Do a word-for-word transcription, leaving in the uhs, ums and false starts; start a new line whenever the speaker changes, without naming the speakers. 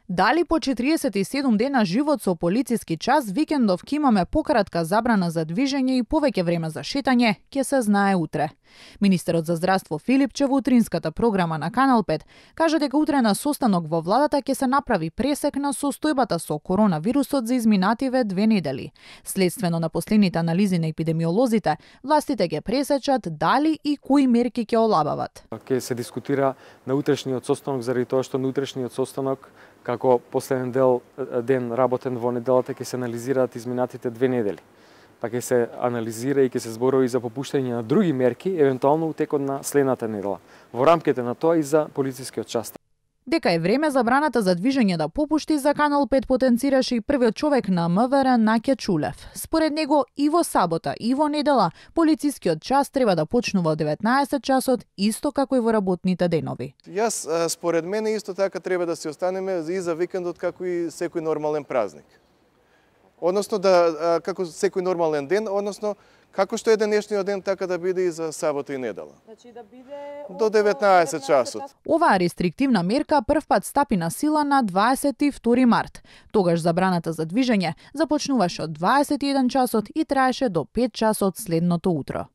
Дали по четириесет и седум дена живот со полициски час, викендов ќе имаме пократка забрана за движење и повеќе време за шетање, ќе се знае утре. Министерот за здравство Филипче во утринската програма на Канал пет кажа дека утре на состанок во владата ќе се направи пресек на состојбата со коронавирусот за изминативе две недели. Следствено на последните анализи на епидемиолозите, властите ќе пресечат дали и кои мерки ќе олабават.
Ќе се дискутира на утрешниот состанок заради тоа што на утрешниот состанок како последен дел ден работен во неделата ќе се анализираат изминатите две недели. Па ќе се анализира и ќе се зборови за попуштање на други мерки, евентуално у текот на следната недела. Во рамките на тоа и за полицискиот час.
Дека е време забраната за движење да попушти, за Канал пет потенцираше и првиот човек на МВР Наќа Чулев. Според него и во сабота и во недела полицискиот час треба да почнува од деветнаесет часот, исто како и во работните денови.
Јас според мене исто така треба да се останеме и за викендот како и секој нормален празник. Односно да како секој нормален ден, односно како што е денешниот ден, така да биде и за сабота и недела.
Значи да биде
до деветнаесет часот.
Оваа рестриктивна мерка првпат стапи на сила на дваесет и втори март. Тогаш забраната за движење започнуваше од дваесет и еден часот и траеше до пет часот следното утро.